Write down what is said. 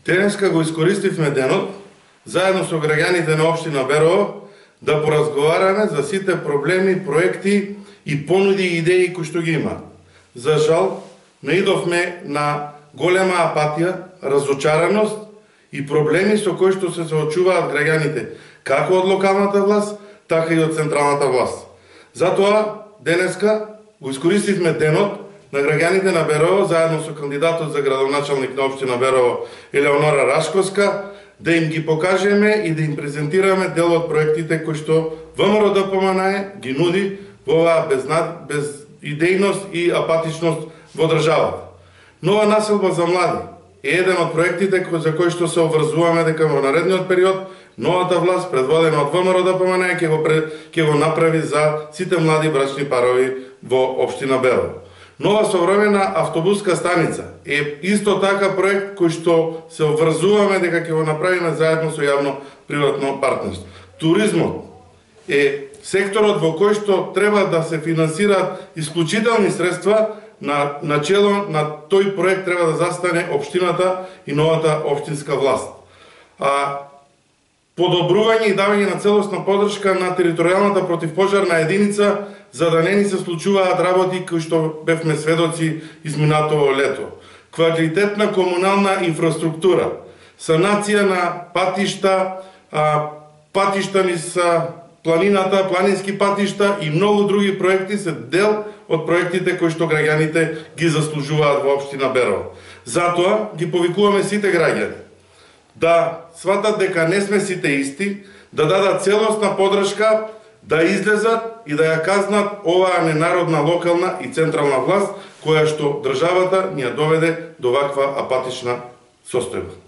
Денеска го искористивме денот, заедно со граѓаните на општина Берово, да поразговараме за сите проблеми, проекти и понуди и идеи кои што ги има. За жал, наидовме на голема апатија, разочараност и проблеми со кои што се соочуваат граѓаните, како од локалната власт, така и од централната власт. Затоа, денеска го искористивме денот на граѓаните на Берово, заедно со кандидатот за градоначалник на општина Берово, Елеонора Рашковска, да им ги покажеме и да им презентираме дел од проектите кои што ВМРО ДПМНЕ ги нуди во оваа безидејност и апатичност во државата. Нова населба за млади е еден од проектите за кои што се обврзуваме дека во наредниот период новата власт, предводена од ВМРО ДПМНЕ, ќе го направи за сите млади брачни парови во општина Берово. Нова современа автобуска станица е исто така проект кој што се обврзуваме дека ќе го направиме заедно со јавно-приватно партнерство. Туризмот е секторот во кој што треба да се финансираат исклучителни средства. На чело на тој проект треба да застане општината и новата општинска власт. Подобрување и давање на целосна поддршка на територијалната противпожарна единица, за да не ни се случуваат работи кои што бевме сведоци изминатото лето. Квалитетна комунална инфраструктура, санација на патишта, патишта низ планината, планински патишта и многу други проекти се дел од проектите кои што граѓаните ги заслужуваат во општина Берово. Затоа ги повикуваме сите граѓани да сватат дека не сме сите исти, да дадат целосна поддршка, да излезат и да ја казнат оваа ненародна локална и централна власт, која што државата ни ја доведе до ваква апатична состојба.